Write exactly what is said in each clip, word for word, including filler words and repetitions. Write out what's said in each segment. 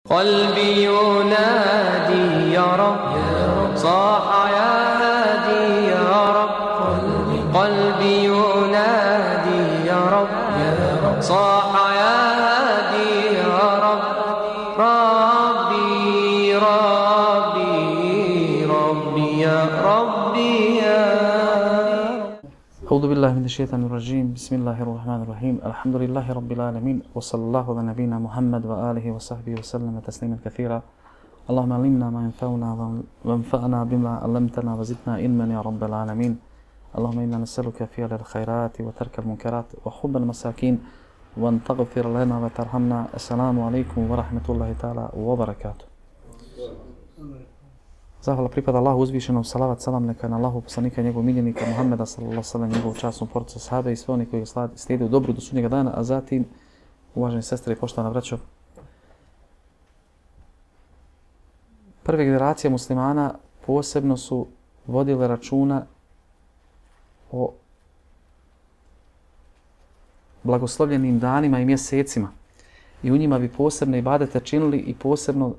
قلبي ينادي يا رب صاح يا هادي يا رب قلبي ينادي يا رب صاح يا هادي يا رب ربي ربي ربي يا ربي يا أعوذ بالله من الشيطان الرجيم بسم الله الرحمن الرحيم الحمد لله رب العالمين وصلى الله على نبينا محمد وآله وصحبه وسلم تسليما كثيرا اللهم علمنا ما ينفعنا وانفعنا بما علمتنا وزدنا علما يا رب العالمين اللهم إنا نسألك فعل الخيرات وترك المنكرات وحب المساكين وأن تغفر لنا وترحمنا السلام عليكم ورحمة الله تعالى وبركاته. Zahvala pripada Allahu uzvišenom, salavat salam neka na Allahu poslanika i njegovog miljenika Muhammeda sallallahu alejhi ve sellem, njegovu časnu porodicu sahabe i sve oni koji ga slijede u dobru do sudnjega dana, a zatim, uvaženi sestre i poštovana braćo, prve generacije muslimana posebno su vodile računa o blagoslovljenim danima i mjesecima i u njima bi posebne ibadete činili i posebno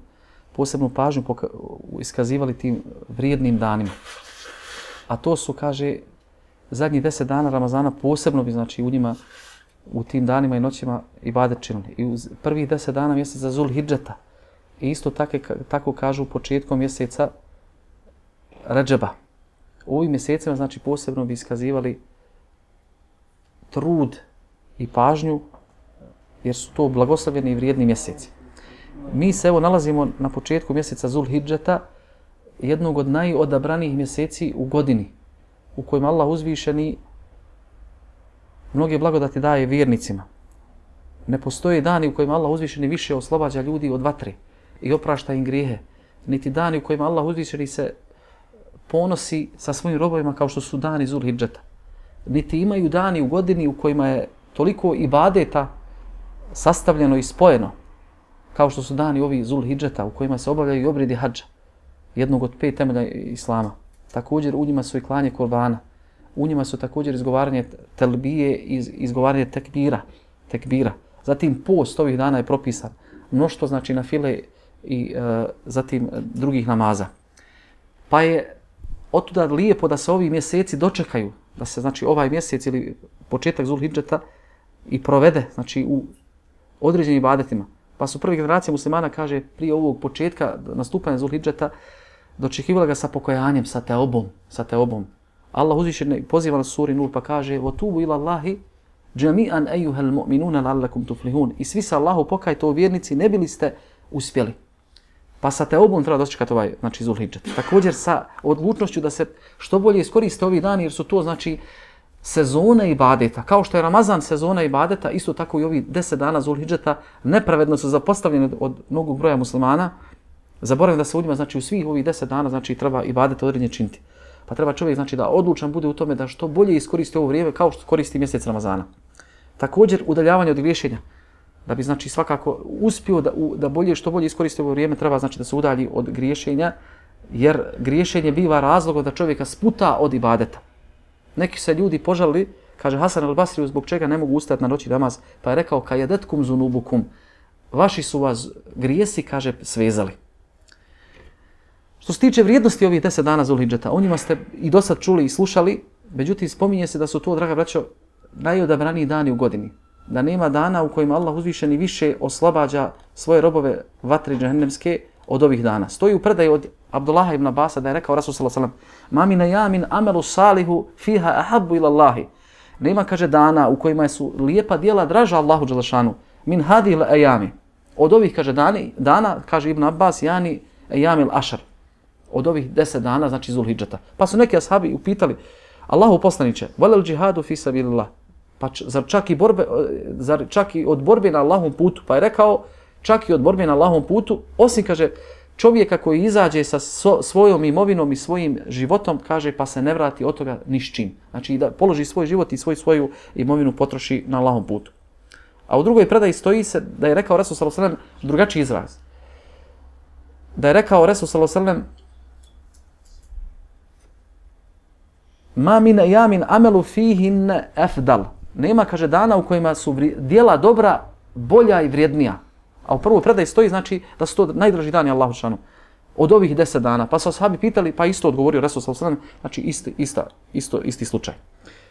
posebnu pažnju iskazivali tim vrijednim danima. A to su, kaže, zadnjih deset dana Ramazana posebno bi, znači, u njima, u tim danima i noćima ibadet činili. I u prvih deset dana mjeseca Zul Hidžeta. I isto tako, tako kažu početkom mjeseca Redžeba. U ovim mjesecima, znači, posebno bi iskazivali trud i pažnju, jer su to blagoslovljeni i vrijedni mjeseci. Mi se evo nalazimo na početku mjeseca Zul Hidžeta, jednog od najodabranijih mjeseci u godini, u kojima Allah uzvišeni mnoge blagodati daje vjernicima. Ne postoje dani u kojima Allah uzvišeni više oslobađa ljudi od vatre i oprašta im grijehe, niti dani u kojima Allah uzvišeni se ponosi sa svojim robovima kao što su dani Zul Hidžeta. Niti imaju dani u godini u kojima je toliko ibadeta sastavljeno i spojeno, kao što su dani ovi Zul Hidžeta u kojima se obavljaju i obredi hadža, jednog od pet temelja islama. Također u njima su i klanje kurbana, u njima su također izgovaranje telbije i izgovaranje tekbira, tekbira. Zatim post ovih dana je propisan, mnoštvo znači na file i e, zatim drugih namaza. Pa je otuda lijepo da se ovi mjeseci dočekaju, da se znači ovaj mjesec ili početak Zul Hidžeta i provede znači u određenim ibadetima. Pa su prve generacije muslimana, kaže, prije ovog početka nastupanja Zul Hidžeta dočekivala ga sa pokajanjem, sa teobom, sa teobom. Allah uzvišeni poziva na suri Nur pa kaže: "Watubu ila Allahi jami'an ayyuhal mu'minuna la'allakum tuflihun." I svi se Allahu pokajte o vjernici, ne bili ste uspjeli. Pa sa teobom treba dočekati ovaj, znači Zul Hidžet. Također sa odlučnošću da se što bolje iskoriste ovi dani, jer su to znači sezone ibadeta. Kao što je Ramazan sezona ibadeta, isto tako i ovi deset dana Zul Hidžeta nepravedno su zapostavljeni od mnogog broja muslimana. Zaboravim da se u njima, znači u svih ovih deset dana, znači treba ibadete određenje činiti. Pa treba čovjek, znači, da odlučan bude u tome da što bolje iskoristi ovo vrijeme kao što koristi mjesec Ramazana. Također udaljavanje od griješenja. Da bi, znači, svakako uspio da, da bolje, što bolje iskoristi ovo vrijeme, treba, znači, da se udalji od griješenja, jer griješenje biva razlogom da čovjeka sputa od ibadeta. Neki se ljudi požalili, kaže Hasan al-Basri, zbog čega ne mogu ustati na noći namaz, pa je rekao: "Kajedetkum zunubukum", vaši su vas grijesi, kaže, svezali. Što se tiče vrijednosti ovih deset dana Zul Hidžeta, o njima ste i do sad čuli i slušali, međutim spominje se da su to, draga braćo, najodabraniji dani u godini. Da nema dana u kojima Allah uzvišeni više oslobađa svoje robove vatre džehennemske od ovih dana. Stoji u predaji od Abdullaha ibn Abasa da je rekao Rasul sallallahu alejhi ve sellem: "Ma min ayamin amelu salihu fiha ahabbu ila Allahi." Nema, kaže, dana u kojima su lijepa djela draža Allahu dželešanu min hadil ayami. Od ovih, kaže, dani, dana, kaže Ibn Abbas, yani ayamil ashar. Od ovih deset dana, znači Zul Hidžeta. Pa su neki ashabi upitali: "Allahu poslanice, walal džihadu fi sabilillah." Pa zar čak i borbe, zar čak i od borbe na Allahovom putu? Pa je rekao: "Čak i od borbe na Allahovom putu, osim, kaže, čovjeka koji izađe sa so, svojom imovinom i svojim životom, kaže, pa se ne vrati od toga ni s čim." Znači da položi svoj život i svoj, svoju imovinu potroši na Allahovom putu. A u drugoj predaji stoji se da je rekao Resul sallallahu alejhi ve sellem drugačiji izraz. Da je rekao Resul sallallahu alejhi ve sellem: "Ma min ayamin amelu fihin afdal." Nema, kaže, dana u kojima su djela dobra bolja i vrijednija. A u prvoj predaji stoji znači da su to najdraži dani Allahu dželešanu. Od ovih deset dana. Pa su ashabi pitali, pa isto odgovorio Resul sallallahu alejhi ve sellem, znači isti, ista, isto, isti slučaj.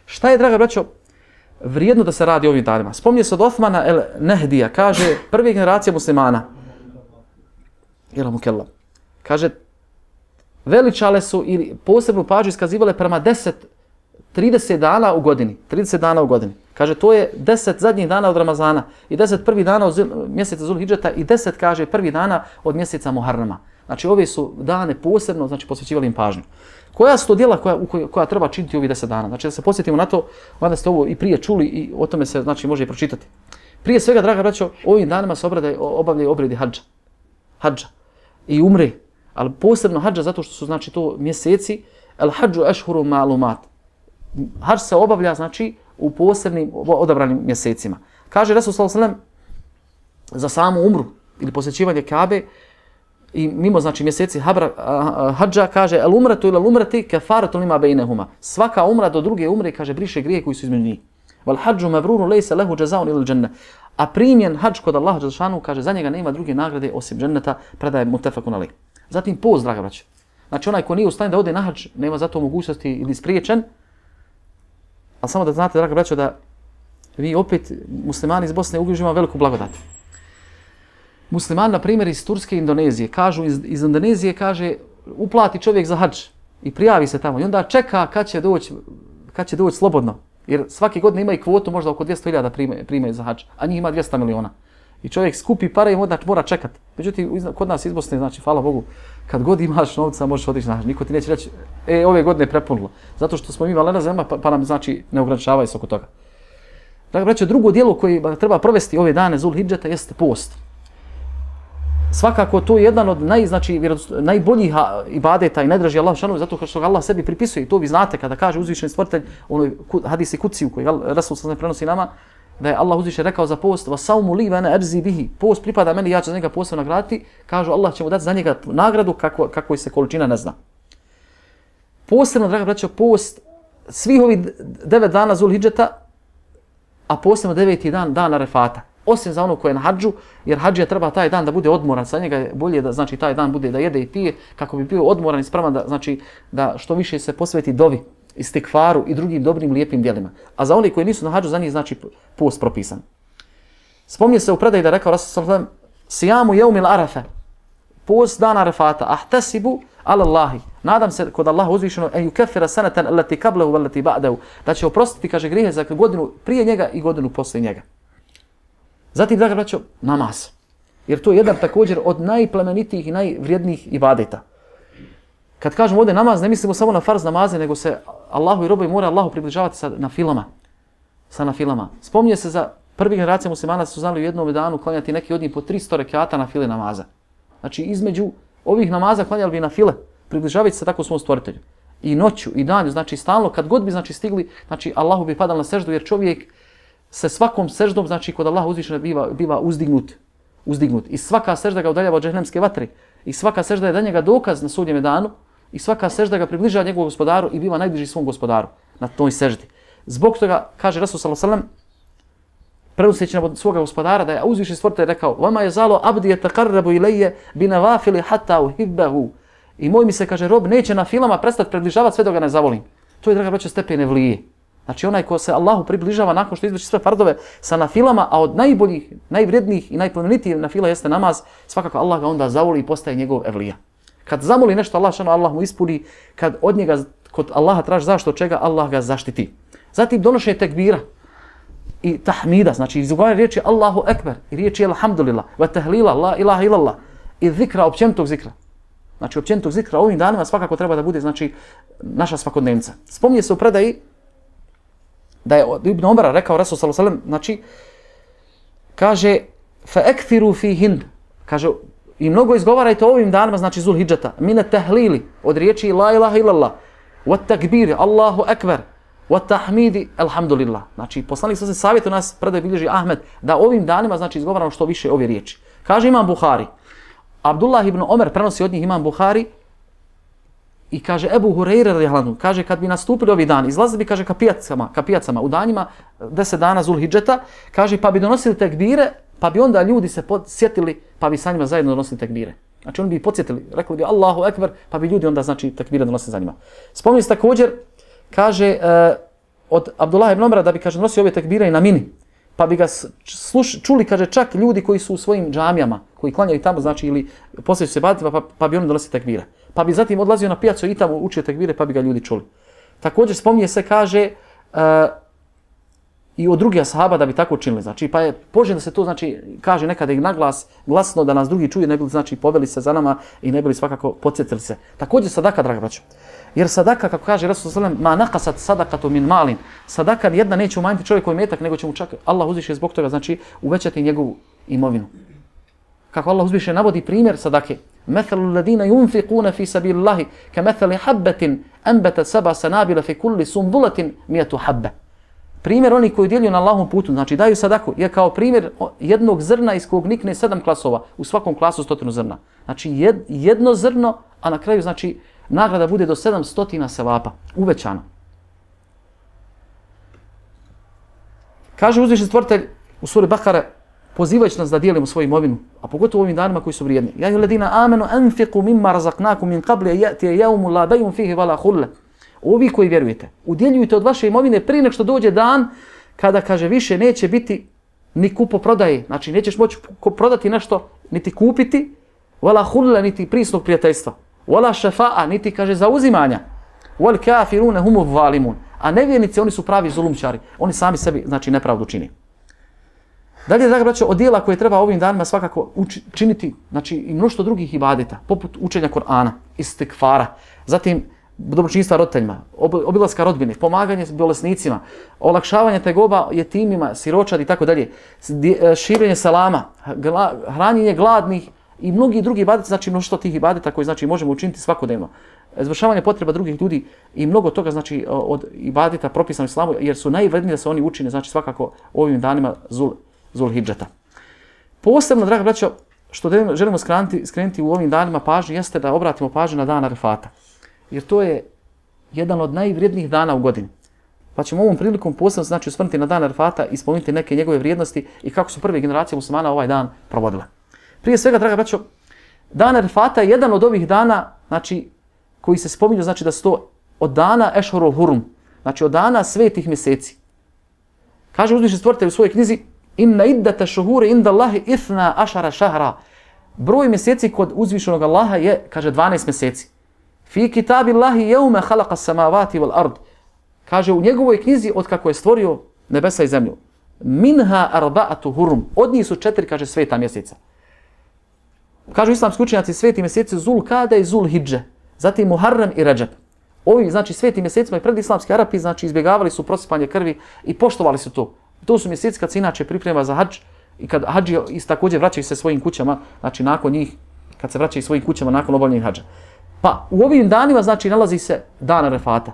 Šta je, draga braćo, vrijedno da se radi ovim danima? Spominje se od Osmana el Nehdija, kaže prve generacije muslimana. Jela mukella. Kaže, veličale su ili posebnu pažnju iskazivale prema deset, trideset dana u godini. trideset dana u godini. Kaže, to je deset zadnjih dana od Ramazana i deset prvih dana od mjeseca Zulhidžeta i deset, kaže, prvih dana od mjeseca Muharrama. Znači, ove su dane posebno, znači, posvećivali im pažnju. Koja su to djela koja, koja, koja treba činiti ovih deset dana? Znači, da se posjetimo na to, mada ste ovo i prije čuli i o tome se, znači, može i pročitati. Prije svega, draga braćo, ovim danima se obrade, obavljaju obredi hadža. Hadža. I umre. Ali posebno hadža zato što su, znači, to mjeseci. El hadžu ešhuru ma'lumat. Hadž se obavlja, znači, u posebnim odabranim mjesecima. Kaže Resul sallallahu alejhi ve sellem za samu umru ili posjećivanje Kabe i mimo, znači, mjeseci habra, hadža, kaže el umratu ila umrati kefaratu lima bejnehuma. Svaka umra do druge umre, kaže, briše grije koji su između njih. Wal hadžu mabruru lejse lehu džazaun ila dženne. A primjen hadž kod Allaha dželešanu, kaže, za njega nema druge nagrade osim dženneta, predaje mutefakun alejh. Zatim post, draga braćo. Znači, onaj ko nije u stanju da ode na hadž, nema za to mogućnosti ili spriječen. Ali samo da znate, draga braćo, da vi opet, muslimani iz Bosne, uživamo veliku blagodat. Muslimani, na primjer, iz Turske i Indonezije, kažu, iz, iz Indonezije, kaže, uplati čovjek za hadž i prijavi se tamo. I onda čeka kad će doći, kad će doći slobodno. Jer svake godine ima i kvotu, možda oko dvjesto hiljada prime, prime za hadž, a njih ima dvjesto miliona. I čovjek skupi pare i onda mora čekati. Međutim, kod nas iz Bosne, znači, hvala Bogu, kad god imaš novca, možeš otići na hadž. Niko ti neće reći, e, ove godine je prepunilo. Zato što smo imali na zemlja, pa, pa nam, znači, ne ograničavaju se oko toga. Dakle, braćo, drugo dijelo koje treba provesti ove dane Zulhidžeta jeste post. Svakako to je jedan od naj, znači, najboljih ibadeta i najdraži Allah šanu, zato što ga Allah sebi pripisuje. I to vi znate kada kaže uzvišeni stvoritelj, onoj hadisi kuciju koji Rasul sallallahu prenosi nama, da je Allah uzviše rekao za post, va saumu li vene erzi bihi, post pripada meni, ja ću za njega posebno nagraditi, kažu Allah će mu dati za njega nagradu kako, kako se količina ne zna. Posebno, draga braćo, post svih ovih devet dana Zulhidžeta, a posebno deveti dan, dan Arefata. Osim za ono koje je na hadžu, jer hadžija treba taj dan da bude odmoran, sa njega je bolje da, znači, taj dan bude da jede i pije, kako bi bio odmoran i spreman da, znači, da što više se posveti dovi, istikfaru i drugim dobrim lijepim djelima. A za oni koji nisu na hadžu, za njih znači post propisan. Spominje se u predaji da je rekao Rasul sallallahu alejhi ve sellem sijamu jeumil arafe, post dana Arefata, ahtasibu ala Allahi, nadam se kod Allaha uzvišeno en yukeffira sanatan allati qablahu wallati ba'dahu, da će oprostiti, kaže, grijehe za godinu prije njega i godinu poslije njega. Zatim, draga braćo, namaz. Jer to je jedan također od najplemenitijih i najvrijednijih ibadeta. Kad kažemo ovdje namaz, ne mislimo samo na farz namaze, nego se Allahu i robovi mora Allahu približavati sa nafilama. Sa nafilama. Spominje se za prvi generacije muslimana su znali u jednom danu klanjati neki od njih po tristo rekata nafile namaza. Znači, između ovih namaza klanjali bi nafile, približavati se tako svom stvoritelju. I noću, i danju, znači stalno, kad god bi, znači, stigli, znači Allahu bi padal na seždu, jer čovjek se svakom seždom, znači kod Allaha uzvišeno biva, biva uzdignut, uzdignut. I svaka sežda ga udaljava od džehnemske vatre. I svaka sežda je da njega dokaz na sudnjem danu. I svaka sežda ga približava njegovom gospodaru i biva najbliži svom gospodaru na toj seždi. Zbog toga, kaže Rasul sallallahu alejhi ve sellem, prenoseći od svoga gospodara, da je uzvišeni stvoritelj rekao: "Vama je zalo abdi yataqarrabu ilayya binawafili hatta uhibbahu." I moj mi se, kaže, rob neće na filama prestati približavati sve dok ga ne zavolim. To je, draga braćo, stepen evlije. Znači onaj ko se Allahu približava nakon što izvrši sve fardove sa nafilama, a od najboljih, najvrijednijih i najplemenitijih nafila jeste namaz, svakako Allah ga onda zavoli i postaje njegov evlija. Kad zamoli nešto Allah, šano Allah mu ispuni, kad od njega kod Allaha traži zašto čega, Allah ga zaštiti. Zatim donošenje tekbira i tahmida, znači izgovaranje riječi Allahu ekber i riječi alhamdulillah, wa tahlila la ilaha illallah i zikra, općenitog zikra. Znači općenitog zikra ovim danima svakako treba da bude, znači, naša svakodnevnica. Spominje se u predaji da je Ibn Omara rekao Rasul sallallahu alejhi ve sellem, znači, kaže fa akthiru fihin, kaže i mnogo izgovarajte ovim danima, znači Zulhidžeta, mine tahlili, od riječi la ilaha illallah, wa takbiri, Allahu ekber, wa tahmidi, alhamdulillah. Znači, poslanik sa se savjetuje nas, predaj bilježi Ahmed, da ovim danima, znači, izgovaramo što više ove riječi. Kaže Imam Buhari, Abdullah ibn Omer prenosi od njih Imam Buhari i kaže Ebu Hureyre radijallahu anhu, kaže kad bi nastupili ovi dan, izlazili bi, kaže, ka pijacama, ka pijacama u danima deset dana Zulhidžeta, kaže pa bi donosili tekbire pa bi onda ljudi se sjetili, pa bi sa njima zajedno donosili tekbire. Znači oni bi podsjetili, rekli bi Allahu ekber, pa bi ljudi onda znači tekbire donosili za njima. Spominje se također, kaže uh, od Abdullah ibn Omara da bi kaže donosio ove tekbire i na mini, pa bi ga sluš, čuli kaže čak ljudi koji su u svojim džamijama, koji klanjaju tamo znači ili poslije se baditi, pa, pa bi oni donosili tekbire. Pa bi zatim odlazio na pijacu i tamo učio tekbire, pa bi ga ljudi čuli. Također spominje se kaže uh, i od drugih ashaba da bi tako činili. Znači, pa je poželjno da se to znači kaže nekada i naglas, glasno da nas drugi čuju, ne bi li znači poveli se za nama i ne bi li svakako podsjetili se. Također sadaka, draga braćo. Jer sadaka, kako kaže Rasul sallallahu alejhi ve sellem, ma naqasat sadaqatu min malin. Sadaka jedna neće umanjiti čovjekovi metak, nego će mu čak Allah uzviše zbog toga znači uvećati njegovu imovinu. Kako Allah uzviše navodi primjer sadake. Mathalu alladhina yunfiquna fi sabilillahi kamathali habatin anbatat sab'a sanabila fi kulli sunbulatin mi'atu habba. Primjer oni koji djeljuju na Allahovom putu, znači daju sadaku, je kao primjer jednog zrna iz kog nikne sedam klasova, u svakom klasu stotinu zrna. Znači jed, jedno zrno, a na kraju znači nagrada bude do sedam stotina sevapa, uvećano. Kaže uzvišeni stvoritelj u suri Bakara, pozivajući nas da dijelimo svoju imovinu, a pogotovo u ovim danima koji su vrijedni. Ja ayyuhalladhina amanu anfiqu mimma razaqnakum min qabli an ya'tiya yawmun la bay'un fihi wala khullah. Ovi koji vjerujete, udjeljujte od vaše imovine prije nego što dođe dan kada, kaže, više neće biti ni kupoprodaje. Znači, nećeš moći prodati nešto, niti kupiti, wala hulla, niti prisnog prijateljstva, wala šefa'a, niti, kaže, zauzimanja, wal kafirune humu zalimun. A nevjernici, oni su pravi zulumčari. Oni sami sebi, znači, nepravdu čini. Dalje, draga braćo, od dijela koje treba ovim danima svakako uči, činiti, znači, i mnoštvo drugih ibadeta, poput učenja Kur'ana, istikfara, zatim dobročinstva roditeljima, obilaska rodbine, pomaganje bolesnicima, olakšavanje tegoba jetimima, siročad i tako dalje, širenje salama, hranjenje gladnih i mnogi drugi ibadeti, znači mnoštvo tih ibadeta koji znači možemo učiniti svakodnevno. Izvršavanje potreba drugih ljudi i mnogo toga znači od ibadeta propisano islamu, jer su najvredniji da se oni učine, znači svakako ovim danima zul, zul hidžeta. Posebno, draga braćo, što želimo skrenuti, skrenuti u ovim danima pažnju, jeste da obratimo pažnju na dan Arefata. Jer to je jedan od najvrijednijih dana u godini. Pa ćemo ovom prilikom posebno znači osvrnuti na dan Arefata i spomenuti neke njegove vrijednosti i kako su prve generacije muslimana ovaj dan provodile. Prije svega, draga braćo, dan Arefata je jedan od ovih dana, znači, koji se spominju, znači da su to od dana Ešhurul Hurum, znači od dana svetih mjeseci. Kaže uzvišeni stvoritelj u svojoj knjizi: Inna iddata shuhuri inda Allahi ithna ašara šahra. Broj mjeseci kod uzvišenog Allaha je, kaže, dvanaest mjeseci. Fi kitabillahi yawma khalaqa as-samawati wal ard. Kaže u njegovoj knjizi od kako je stvorio nebesa i zemlju. Minha arba'atu hurum. Od njih su četiri, kaže, sveta mjeseca. Kažu islamski učenjaci, sveti mjeseci Zul Kada i Zul Hidže. Zatim Muharrem i Redžep. Ovi, znači, sveti mjesecima i predislamski Arapi, znači, izbjegavali su prosipanje krvi i poštovali su to. To su mjeseci kad se inače priprema za hadž i kad hadži također vraćaju se svojim kućama, znači nakon njih, kad se vraćaju svojim kućama nakon obavljenih hadža. Pa u ovim danima, znači, nalazi se dan Arefata.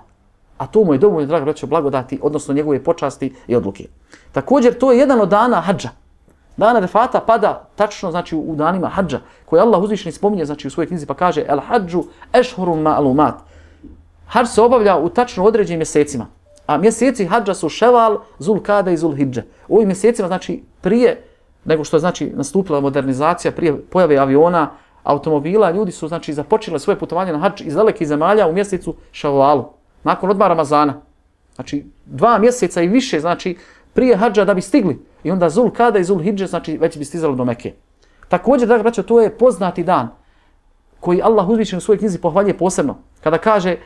A to mu je dovoljno, draga braćo, blagodati, odnosno njegove počasti i odluke. Također, to je jedan od dana hadža. Dan Arefata pada tačno, znači, u danima hadža, koje Allah uzvišeni spominje, znači, u svojoj knjizi, pa kaže: El hadžu ešhurum ma'lumat. Hadž se obavlja u tačno određenim mjesecima. A mjeseci hadža su Ševal, Zul Kada i Zul Hidže. U ovim mjesecima, znači, prije nego što je, znači, nastupila modernizacija, prije pojave aviona, automobila, ljudi su, znači, započeli svoje putovanje na hadž iz dalekih zemalja u mjesecu Ševalu, nakon odmara Ramazana. Znači, dva mjeseca i više, znači, prije hadža da bi stigli. I onda Zul Kada i Zul Hidže, znači, već bi stizali do Mekke. Također, draga braćo, to je poznati dan koji Allah uzvišen u svojoj knjizi pohvaljuje posebno. Kada kaže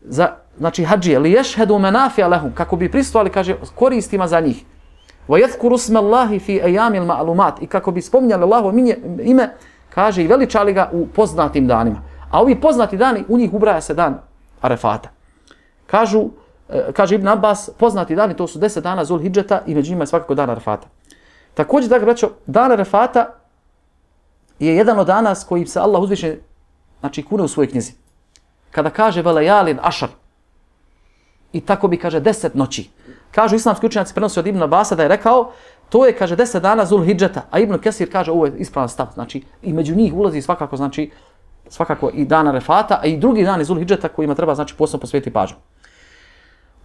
za, znači, hadžije, li ješhedu menafija lehum, kako bi prisustvovali, kaže, koristima za njih. Wa yadhkuru isma Allahi fi ayamil ma'lumat, i kako bi spominjali Allahovo ime, kaže, i veličali ga u poznatim danima. A ovi poznati dani, u njih ubraja se dan Arefata. Kažu, kaže Ibn Abbas, poznati dani, to su deset dana Zul Hidžeta i među njima je svakako dan Arefata. Također, dakle, braćo, dan Arefata je jedan od dana s kojim se Allah uzviše, znači, kune u svojoj knjizi. Kada kaže velejalin ašar, i tako bi, kaže, deset noći. Kažu islamski učenjaci, prenosi od Ibn Abbasa da je rekao, to je, kaže, deset dana Zul Hidžeta, a Ibn Kesir kaže, ovo je ispravan stav, znači, i među njih ulazi svakako, znači, svakako i dan Arefata, a i drugi dan Zul Hidžeta kojima treba, znači, posebno posvetiti pažnju.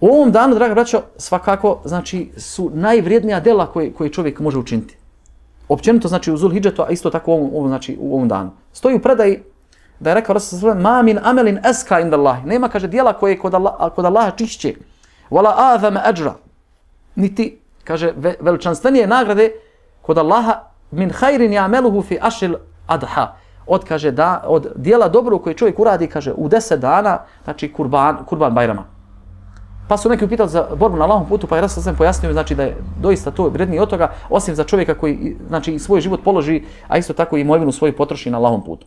U ovom danu, draga braćo, svakako, znači, su najvrijednija djela koje, koje čovjek može učiniti. općenito znači u Zulhidžetu, a isto tako u ovom, ovom, znači, u ovom danu. Stoji u predaji da je rekao Rasul ma min amelin eska inda Allah. Nema, kaže, dijela koje je kod, Allah, kod Allaha čišće. Wala azama ajra. Niti, kaže, ve, veličanstvenije nagrade kod Allaha min khairin ya'maluhu fi ashil adha. Od, kaže, da, od dijela dobro koje čovjek uradi, kaže, u deset dana, znači kurban, kurban Bajrama. Pa su neki upitali za borbu na Allahovom putu, pa je Rasul sam pojasnio, znači da je doista to vrednije od toga, osim za čovjeka koji, znači, svoj život položi, a isto tako i imovinu svoju potroši na Allahovom putu.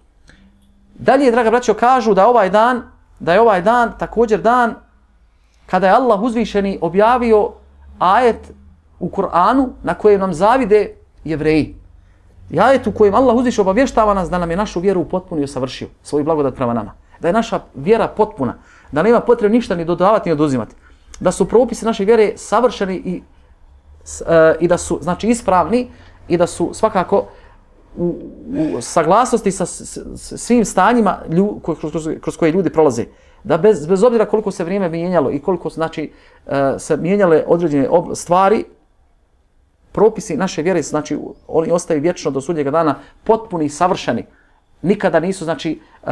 Dalje, draga braćo, kažu da ovaj dan, da je ovaj dan također dan kada je Allah uzvišeni objavio ajet u Kur'anu na kojem nam zavide Jevreji. I ajet u kojem Allah uzviše obavještava nas da nam je našu vjeru upotpunio i savršio, svoju blagodat prema nama. Da je naša vjera potpuna, da nema potrebe ništa ni dodavati ni oduzimati. Da su propisi naše vjere savršeni i, e, i da su, znači, ispravni i da su svakako u, u saglasnosti sa s, s, svim stanjima lju, kroz, kroz, kroz koje ljudi prolaze. Da bez, bez obzira koliko se vrijeme mijenjalo i koliko, znači, e, se mijenjale određene ob, stvari, propisi naše vjere, znači, oni ostaju vječno do sudnjega dana potpuni i savršeni. Nikada nisu, znači, uh,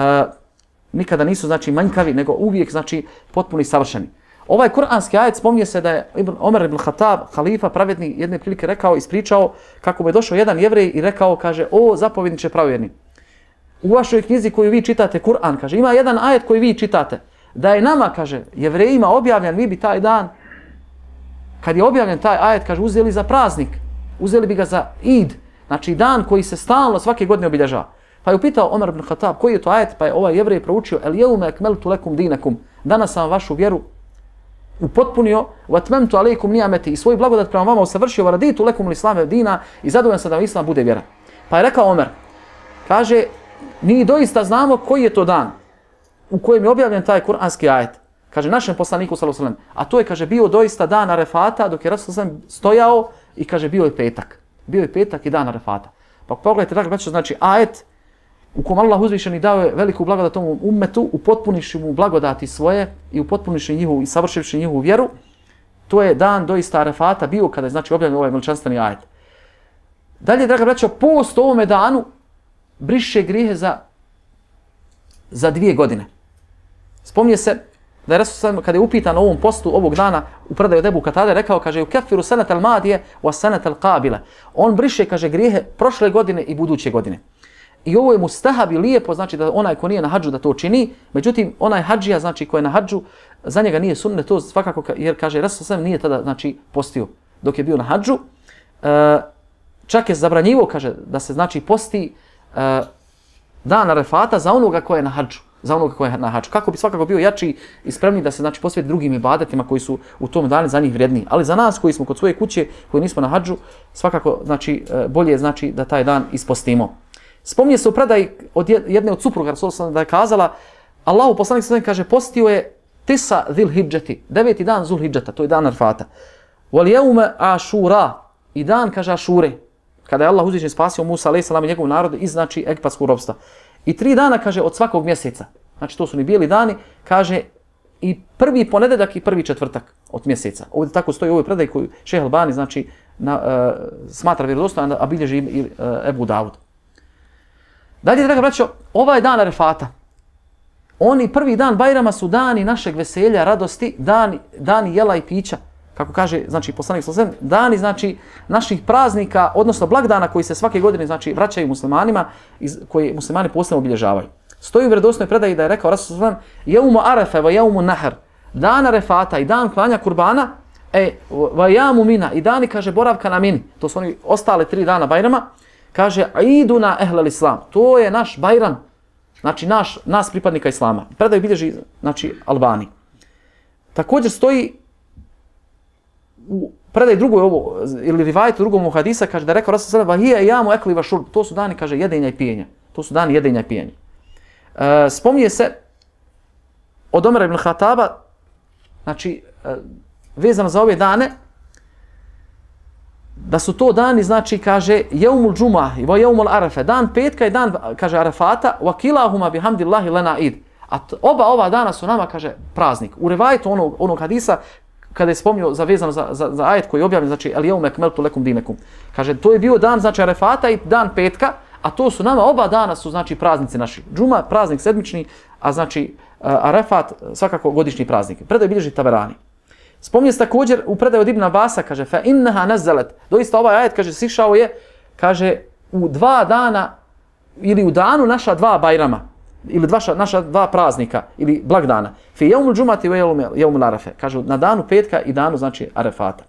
nikada nisu, znači, manjkavi, nego uvijek, znači, potpuni i savršeni. Ovaj kuranski ajet spominje se da je Ibn Omer ibn Khattab, halifa pravedni, jedne prilike rekao, ispričao kako mu je došao jedan Jevrej i rekao, kaže, o zapovjedniče pravjedni, u vašoj knjizi koju vi čitate, Kur'an, kaže, ima jedan ajet koji vi čitate, da je nama, kaže, Jevrejima objavljen, vi bi taj dan, kad je objavljen taj ajet, kaže, uzeli za praznik, uzeli bi ga za id, znači dan koji se stalno svake godine obilježava. Pa je upitao Omer ibn Khattab, koji je to ajet, pa je ovaj Jevrej proučio, el jeume ekmeltu lekum dinakum, danas sam vašu vjeru upotpunio, wa atmamtu alejkum ni'ameti, i svoj blagodat prema vama usavršio, wa raditu lekum l-islame dina, i zadovoljan sam da vam islam bude vjera. Pa je rekao Omer, kaže, mi doista znamo koji je to dan u kojem je objavljen taj kuranski ajet. Kaže našem poslaniku sallallahu alejhi ve sellem, a to je, kaže, bio doista dan Arefata, dok je Rasul sallallahu alejhi ve sellem stojao, i kaže, bio je petak. Bio je petak i dan Arefata. Pa pogledajte, dakle, znači ajet u kom Allah uzvišeni dao je veliku blagodat tomu ummetu, upotpuniši mu blagodati svoje i upotpuniši njihovu i savršivši njihovu vjeru. To je dan doista Arefata bio kada je, znači, objavljen ovaj veličanstveni ajet. Dalje, draga braćo, post ovome danu briše grijehe za, za dvije godine. Spominje se da je Rasul kada je upitan o ovom postu ovog dana u predaju od Ebu Katade, rekao, kaže, ukeffiru senetel madije wa senetel qabile. On briše, kaže, grijehe prošle godine i buduće godine. I ovo je mustahab i lijepo, znači da onaj ko nije na hadžu da to čini, međutim onaj hadžija, znači ko je na hadžu, za njega nije sunnet to svakako, jer, kaže, Rasul sam nije tada, znači, postio dok je bio na hadžu. E, čak je zabranjivo, kaže, da se, znači, posti e, dan Arefata za onoga ko je na hadžu. za onoga koji je na hadžu. Kako bi svakako bio jači i spremni da se, znači, posveti drugim ibadetima koji su u tom danu za njih vrijedniji. Ali za nas koji smo kod svoje kuće, koji nismo na hadžu, svakako, znači, bolje je, znači, da taj dan ispostimo. Spominje se u predaji od jedne od supruga da je kazala, Allahu poslanik sallallahu kaže, postio je tisa Zilhidžeti, deveti dan Zulhidžeta, to je dan Arfata. Wal jeume Ašura, i dan, kaže, Ašure, kada je Allah uzvišen spasio Musa alejhi selam i njegov narod iz, znači, egipatskog ropstva. I tri dana, kaže, od svakog mjeseca. Znači, to su ni bijeli dani, kaže, i prvi ponedeljak i prvi četvrtak od mjeseca. Ovdje tako stoji u ovoj predaji koju Šejh Albani, znači, na, uh, smatra vjerodostojan, a bilježi i uh, Ebu Davud. Dalje, draga braćo, ovaj dan Arefata, oni prvi dan Bajrama su dani našeg veselja, radosti, dani, dani jela i pića. Kako kaže, znači, poslanik sallallahu alejhi ve sellem, dani, znači, naših praznika, odnosno blagdana koji se svake godine, znači, vraćaju muslimanima, iz, koji muslimani posebno obilježavaju. Stoji u vjerodostojnoj predaji da je rekao Rasul sallallahu alejhi ve sellem, jeumu arefe wa jeumu nahr, dan Arefata i dan klanja kurbana, e, wa jamu mina, i dani, kaže, boravka na mini, to su oni ostale tri dana Bajrama, kaže, iduna ehlel islam, to je naš Bajram, znači, naš, nas pripadnika islama. Predaju bilježi, znači, Albani. Također stoji u predaj drugoj ovo, ili rivajtu drugom hadisa, kaže da je rekao Rasul sallallahu alejhi ve sellem, jamu ekli va šurb, to su dani, kaže, jedenja i pijenja. To su dani jedenja i pijenja. E, spominje se od Omera ibn Khattaba, znači, e, vezano za ove dane, da su to dani, znači, kaže, jeumul džuma i jeumul arefe, dan petka i dan, kaže, Arefata, wa kilahuma bihamdillahi lana id. A oba ova dana su nama, kaže, praznik. U rivajtu onog, onog hadisa, kada je spomnio za vezano za, za, za ajet koji je objavljen, znači el jeume ekmeltu lekum dinekum. Kaže, to je bio dan, znači Arefata i dan petka, a to su nama, oba dana su, znači, praznici naši. Džuma, praznik sedmični, a znači Arefat, svakako godišnji praznik. Predaj bilježi Taberani. Spominje se također u predaju od Ibn Abasa, kaže, fa innaha nazalet. Doista ovaj ajet, kaže, sišao je, kaže, u dva dana, ili u danu naša dva bajrama, ili dva, naša dva praznika, ili blagdana. Fi jeumul džumati ve jeumul arefe. Kažu, na danu petka i danu, znači, Arefata.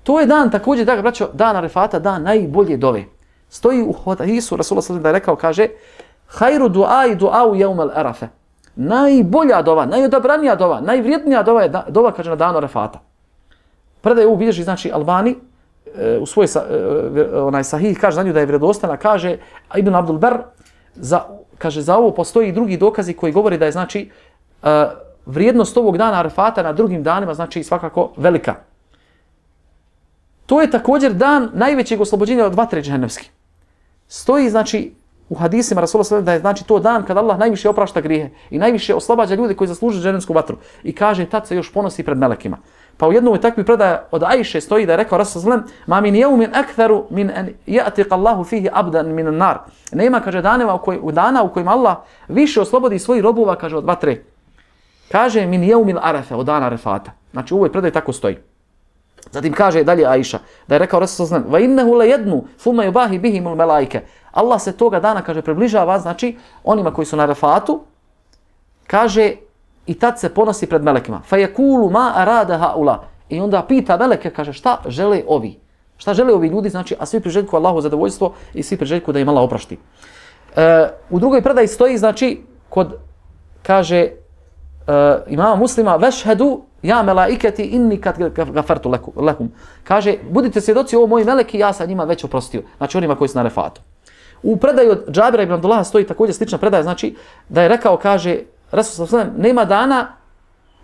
To je dan, također, da ga braćo, dan Arefata, dan najbolje dove. Stoji u hadisu, Rasulullah sallallahu da je rekao, kaže, hajru du'a i du'a u jeumul arefe. Najbolja dova, najodabranija dova, najvrijednija dova je dova, kaže, na danu Arefata. Predaje ovu bilježi, znači, Albani, u svoj onaj sahih, kaže za nju da je vjerodostojna, kaže Ibn Abdul Bar, za, kaže, za ovo postoji i drugi dokazi koji govori da je, znači, uh, vrijednost ovog dana Arefata na drugim danima, znači, svakako velika. To je također dan najvećeg oslobođenja od vatre džehennemske. Stoji, znači, u hadisima Rasulullah sallallahu alejhi ve sellem da je, znači, to dan kad Allah najviše oprašta grijehe i najviše oslobađa ljude koji zaslužuju džehennemsku vatru. I kaže, tad se još ponosi pred melekima. Pa u jednoj takvoj predaji od Ajše stoji da je rekao Rasul sallallahu alejhi ve sellem: "Ma min yawmin aktharu min an ya'tiqa Allahu fihi abdan min an-nar." Nema, kaže, daneva u kojima, u dana u kojima Allah više oslobodi svojih robova, kaže, od vatre. Kaže min yawmil arefe, od dana Arefata. Znači u ovoj predaji tako stoji. Zatim kaže dalje Ajša da je rekao Rasul sallallahu alejhi ve sellem: "Va innahu la yadnu thumma yubahi bihim al-malaike." Allah se toga dana, kaže, približava, znači onima koji su na Arefatu, kaže, i tad se ponosi pred melekima. Fa yaqulu ma arada haula. I onda pita meleke, kaže, šta žele ovi? Šta žele ovi ljudi, znači, a svi priželjkuju Allahu zadovoljstvo i svi priželjkuju da im Allah oprosti. E, u drugoj predaji stoji, znači, kod, kaže, e, imama Muslima, vešhedu ja melaiketi inni kad gafartu lehum. Kaže, budite svjedoci, ovo moji meleki, ja sam njima već oprostio. Znači, onima koji su na Arefatu. U predaju od Džabira ibn Abdullaha stoji također slična predaja, znači, da je rekao, kaže, Rasul sallallahu alejhi ve sellem, nema dana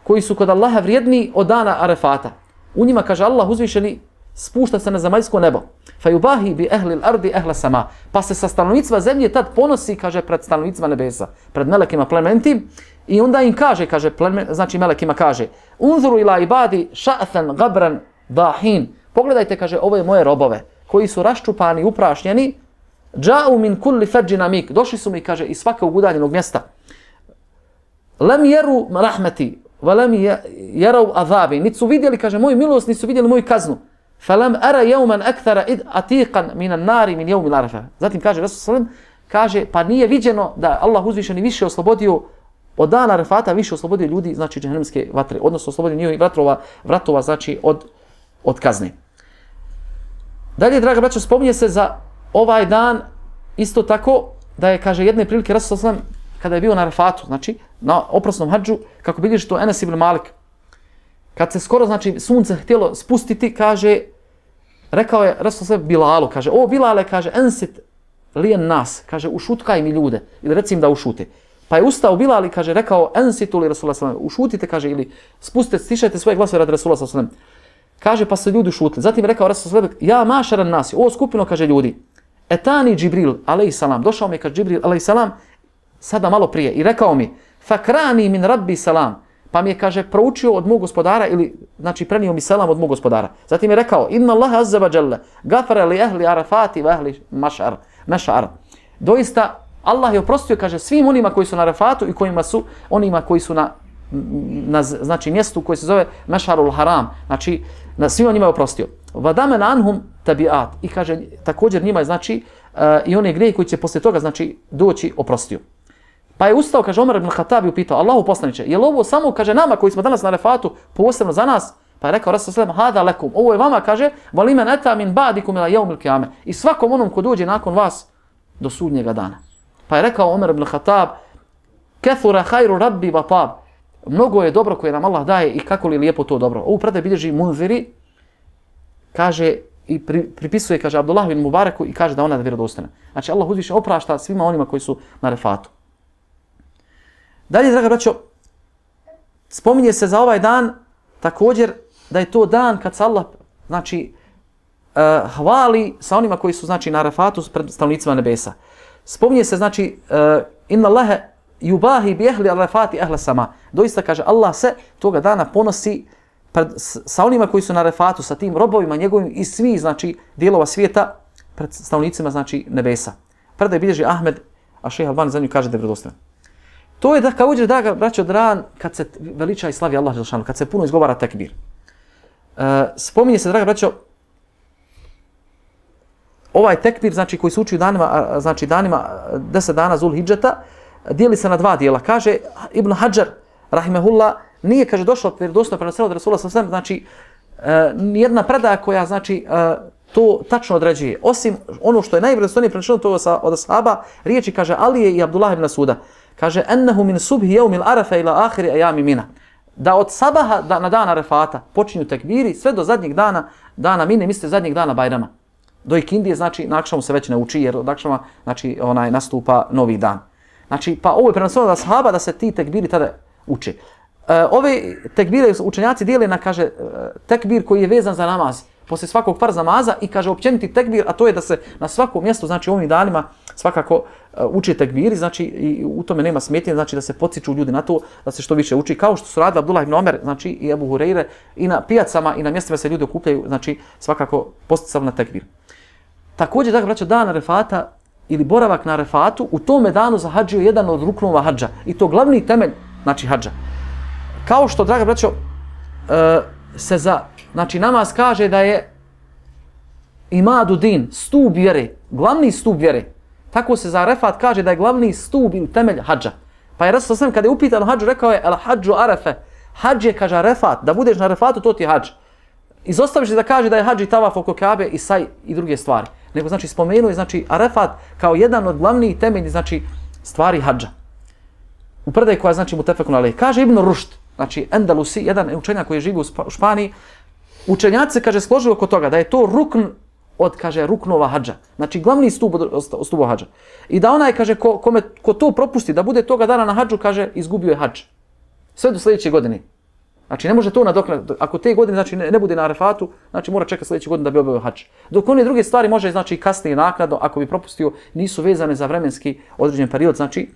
koji su kod Allaha vrijedniji od dana Arefata. U njima, kaže, Allah uzvišeni spušta se na zemaljsko nebo. Fa yubahi bi ahli al-ardi ahla sama. Pa se sa stanovnicima zemlje tad ponosi, kaže, pred stanovnicima nebesa, pred melekima plementim, i onda im kaže, kaže, plemen, znači melekima kaže: "Unzuru ila ibadi sha'than gabran dahin." Pogledajte, kaže, ove moje robove koji su raščupani, uprašnjeni, dža'u min kulli fadjin amik. Došli su mi, kaže, iz svakog udaljenog mjesta. Lam jeru rahmeti, va lam jerav azabi. Niti su vidjeli, kaže, moju milost, niti su vidjeli moju kaznu. Fa lam ara jeuman akthara id atiqan minan nari min jeumil arefa. Zatim kaže Rasul sallallahu alejhi ve sellem, kaže, pa nije viđeno da Allah uzvišeni više oslobodio od dana Arefata, više oslobodio ljudi, znači, džehennemske vatre, odnosno oslobodio njihovih vratova, vratova, znači, od, od kazne. Dalje, draga braćo, spominje se za ovaj dan isto tako da je, kaže, jedne prilike Rasul sallallahu alejhi ve sellem, kada je bio na Arefatu, znači, na oprosnom hadžu, kako bilježi to Enes ibn Malik, kad se skoro, znači, sunce htjelo spustiti, kaže, rekao je Rasul sallallahu Bilalu, kaže, o Bilale, kaže, ensit lijen nas, kaže, ušutkaj mi ljude, ili recim da ušute. Pa je ustao Bilal i, kaže, rekao, ensitu li Rasulullah sallallahu alejhi ve sellem, ušutite, kaže, ili spustite, stišajte svoje glasove radi Rasulullah sallallahu alejhi ve sellem. Kaže, pa su ljudi ušutili. Zatim je rekao Rasul sallallahu alejhi ve sellem, ja mašaran nas, o skupino, kaže, ljudi, etani Džibril, alejsalam, došao mi, kaže, Džibril, alejsalam, sada malo prije, i rekao mi, fakrani min rabbi salam, pa mi je, kaže, proučio od mog gospodara, ili, znači, prenio mi selam od mog gospodara. Zatim je rekao, inna Allaha azza wa jalla gafara li ahli Arafati wa ahli mašar, mašar. Doista, Allah je oprostio, kaže, svim onima koji su na Arafatu i kojima su, onima koji su na, na znači, mjestu koji se zove Mešarul Haram, znači, na svima njima je oprostio. Vadamen anhum tabiat. I kaže, također njima je, znači, uh, i one grijehe koji će poslije toga, znači, doći, oprostio. Pa je ustao, kaže, Omer ibn Khattab i upitao, Allahu poslaniče, je li ovo samo, kaže, nama koji smo danas na Arefatu, posebno za nas? Pa je rekao Rasul sallallahu alejhi ve sellem, hada lekum, ovo je vama, kaže, valimen eta min ba'dikum ila yawmil qiyame. I svakom onom ko dođe nakon vas do sudnjega dana. Pa je rekao Omer ibn Khattab, kathura khairu rabbi wa tab. Mnogo je dobro koje nam Allah daje i kako li lijepo to dobro. Ovu predaj bilježi Munziri, kaže, i pri, pripisuje, kaže, Abdullah bin Mubareku i kaže da ona je vjerodostojna. Znači, Allah uzviše oprašta svima onima koji su na Arefatu. Dalje, draga braćo, spominje se za ovaj dan također da je to dan kad se Allah, znači, uh, hvali sa onima koji su, znači, na Arefatu pred stanovnicima nebesa. Spominje se, znači, uh, inna Allahe yubahi bi ahli arafati ahla sama. Doista kaže Allah se toga dana ponosi pred, sa onima koji su na Arafatu, sa tim robovima njegovim i svi znači dijelova svijeta pred stanovnicima znači nebesa. Predaj bilježi Ahmed, a šejh Albani za nju kaže da je vjerodostojan. To je da kao uđe da braćo dan kad se veliča i slavi Allah dželešanu, kad se puno izgovara tekbir. E, spominje se, draga braćo, ovaj tekbir znači koji se uči u danima, znači danima deset dana Zul Hidžeta, dijeli se na dva dijela. Kaže Ibn Hadžar rahimehullah, nije kaže došlo vjerodostojno preneseno od Rasula sallallahu alejhi ve sellem, znači e, nijedna predaja koja znači e, to tačno određuje. Osim ono što je najvjerodostojnije preneseno to sa od ashaba, riječi kaže Alije i Abdullah ibn Suda. Kaže ennehu min subhi yawmil arafa ila akhiri ayami mina. Da od sabaha da, na dan Arafata počinju tekbiri sve do zadnjeg dana dana Mine, mislite zadnjeg dana Bajrama. Do ikindije znači na akšamu se već ne uči jer od akšama znači onaj nastupa novi dan. Znači pa ovo je preneseno od ashaba da se ti tekbiri tada uče. E, ove tekbire učenjaci dijele na kaže tekbir koji je vezan za namaz. Poslije svakog farz namaza i kaže općeniti tekbir, a to je da se na svakom mjestu, znači ovim danima svakako uh, uči tekbiri, znači i u tome nema smetnje, znači da se podsjeću ljudi na to, da se što više uči, kao što su radili Abdullah ibn Omer, znači i Ebu Hureyre, i na pijacama i na mjestima se ljudi okupljaju, znači svakako posticali na tekbir. Također, dakle, braćo, dan Arefata ili boravak na Arefatu, u tome danu za hadžiju je jedan od ruknova hadža i to glavni temelj, znači hadža. Kao što, draga braćo, uh, se za znači namaz kaže da je imadu din, stup vjere, glavni stup vjere. Tako se za Arefat kaže da je glavni stup ili temelj hadža. Pa je Rasul sallallahu kada je upitan o hadžu rekao je el hadžu Arefe. Hadž je kaže Arefat, da budeš na Arefatu to ti je hadž. Izostaviš da kaže da je hadž i tavaf oko Kabe i saj i druge stvari. Nego znači spomenuo je znači Arefat kao jedan od glavnih temeljnih znači stvari hadža. U predaji koja znači mutefekun alejh. Kaže Ibn Rušd, znači Endalusi, jedan učenjak koji živi u Španiji, učenjaci se kaže složili oko toga da je to rukn od kaže ruknova hadža. Znači glavni stup od stupa hadža. I da onaj kaže ko, kome, ko to propusti da bude toga dana na hadžu kaže izgubio je hadž. Sve do sljedeće godine. Znači ne može to nadoknaditi. Ako te godine znači ne, ne bude na Arefatu, znači mora čekati sljedeće godine da bi obavio hadž. Dok one druge stvari može znači kasnije naknadno ako bi propustio, nisu vezane za vremenski određen period, znači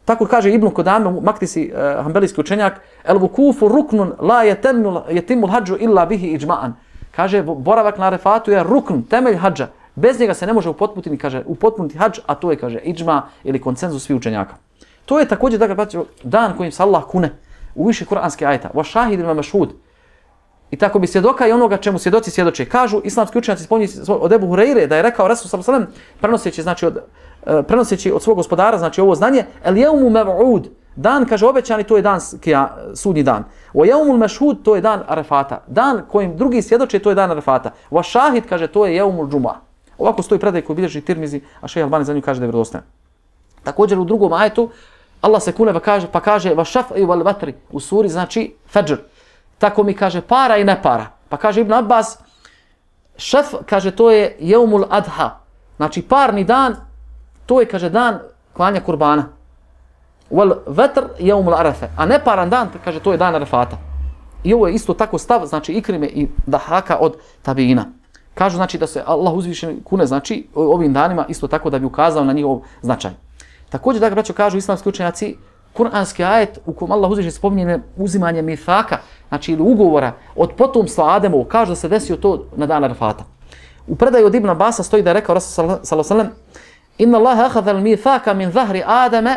tako kaže Ibn Kodame, Maktisi, uh, hanbelijski učenjak, el vukufu ruknun la yatimul hadžu illa bihi ijma'an. Kaže, boravak na Arefatu je rukn, temelj hadža. Bez njega se ne može upotpuniti, kaže, upotpuniti hadž, a to je, kaže, ijma ili konsenzus svih učenjaka. To je također, dakle, dan kojim se Allah kune u više kuranske ajeta. Wa shahidin wa mashhud. I tako bi svjedoka i onoga čemu svjedoci svjedoče. Kažu islamski učenjaci spominju od Ebu Hureyre da je rekao Rasul sallallahu alejhi ve sellem prenoseći znači od uh, prenoseći od svog gospodara znači ovo znanje el yawmu mev'ud, dan kaže obećani to je dan kija, sudnji dan. Wa yawmul mashhud to je dan Arefata. Dan kojim drugi svjedoče to je dan Arefata. Wa shahid kaže to je yawmul džuma. Ovako stoji predaj koji bilježi Tirmizi, a šejh Albani za nju kaže da je vjerodostojan. Također u drugom ajetu Allah se kune pa kaže pa kaže wa shaf'i wal watri u suri znači Fajr. Tako mi kaže para i ne para. Pa kaže Ibn Abbas, šef kaže to je Jeumul Adha. Znači parni dan, to je kaže dan klanja kurbana. Wal vetr Jeumul Arafe. A neparan dan, kaže to je dan Arefata. I ovo je isto tako stav, znači Ikrime i Dahaka od tabiina. Kažu znači da se Allah uzvišen kune znači ovim danima isto tako da bi ukazao na njihov značaj. Također da ga braćo kažu islamski učenjaci, kuranski ajet u kojem Allah uzvišen spominje uzimanje mithaka, znači ili ugovora od potomstva Ademovu, kaže da se desio to na dan Arefata. U predaju od Ibn Abasa stoji da je rekao Rasul sallallahu alejhi ve sellem: "Inna Allaha akhadha al-mithaka min zahri Adama",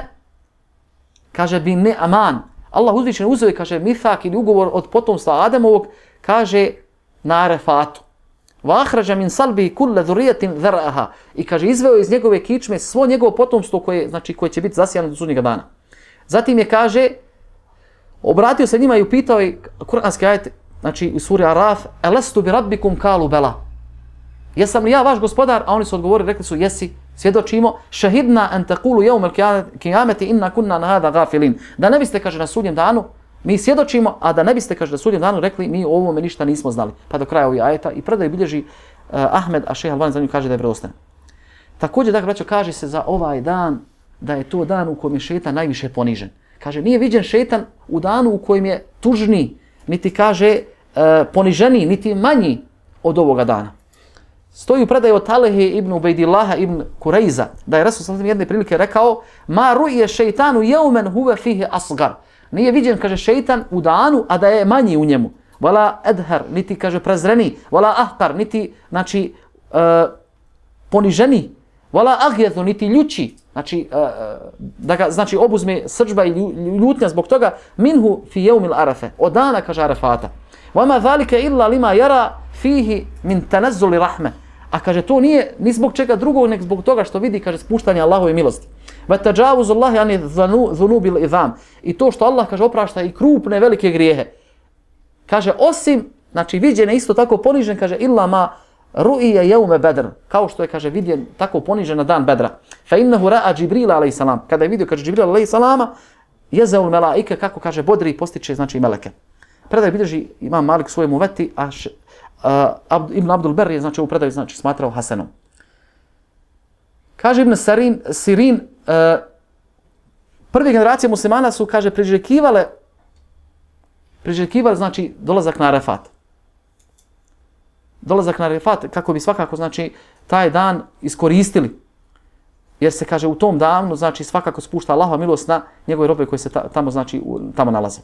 kaže bi ne aman. Allah uzvišen uzeo kaže mithak ili ugovor od potomstva Ademovog, kaže na Arefatu. Wa akhraja min salbi kull dhurriyatin dhar'aha, i kaže izveo iz njegove kičme svo njegovo potomstvo koje znači koje će biti zasijano do sudnjega dana. Zatim je kaže obratio se njima i upitao je kuranski ajet, znači u suri Araf, "Alastu bi rabbikum qalu bala". Jesam li ja vaš gospodar? A oni su odgovorili, rekli su jesi, svjedočimo, "Shahidna an taqulu yawm al-qiyamati inna kunna an hada ghafilin". Da ne biste kaže na sudnjem danu mi svjedočimo, a da ne biste kaže na sudnjem danu rekli mi o ovome ništa nismo znali. Pa do kraja ovih ajeta i predaj bilježi uh, Ahmed, a šejh Albani za nju kaže da je vjerodostojan. Također dakle braćo kaže se za ovaj dan da je to dan u kojem je šejtan najviše ponižen. Kaže, nije viđen šejtan u danu u kojem je tužni, niti kaže e, poniženiji, niti manji od ovoga dana. Stoji u predaju od Talehe ibn Ubejdillaha ibn Kurejza, da je Rasul sallallahu jedne prilike rekao: "Ma ru'je šeitanu yawman huwa fihi asgar." Nije viđen, kaže, šeitan u danu, a da je manji u njemu. Wala adhar, niti, kaže, prezreni, wala ahqar, niti, znači, uh, poniženi, wala aghyadhu, niti ljuči, znači, uh, da ga, znači, obuzme srdžba i ljutnja zbog toga, minhu fi yawmil arafe, od dana, kaže, Arafata. Wama zalika illa lima yara fihi min tanazzuli rahme. A kaže, to nije ni zbog čega drugog, nek zbog toga što vidi, kaže, spuštanje Allahove milosti. Va tajawuzu Allahi ani dhunubil idham. I to što Allah, kaže, oprašta i krupne velike grijehe. Kaže, osim, znači, viđen je isto tako ponižen, kaže, illa ma ru'iya yawma badr, kao što je, kaže, vidjen tako ponižen na dan Bedra. Fa innahu ra'a Džibrila alejhi salam. Kada je vidio, kaže, Džibrila alejhi salama, jezaul melaike, kako, kaže, bodri i postiče, znači, meleke. Predaj bilježi Imam Malik svojemu veti, a š, uh, Ibn Abdul Ber je, znači, u predaju, znači, smatrao hasenom. Kaže Ibn Sarin, Sirin, uh, prve generacije muslimana su, kaže, priželjkivale, priželjkivale, znači, dolazak na Arafat. Dolazak na Arafat, kako bi svakako, znači, taj dan iskoristili. Jer se, kaže, u tom danu, znači, svakako spušta Allahova milost na njegove robe koji se ta, tamo, znači, u, tamo nalaze.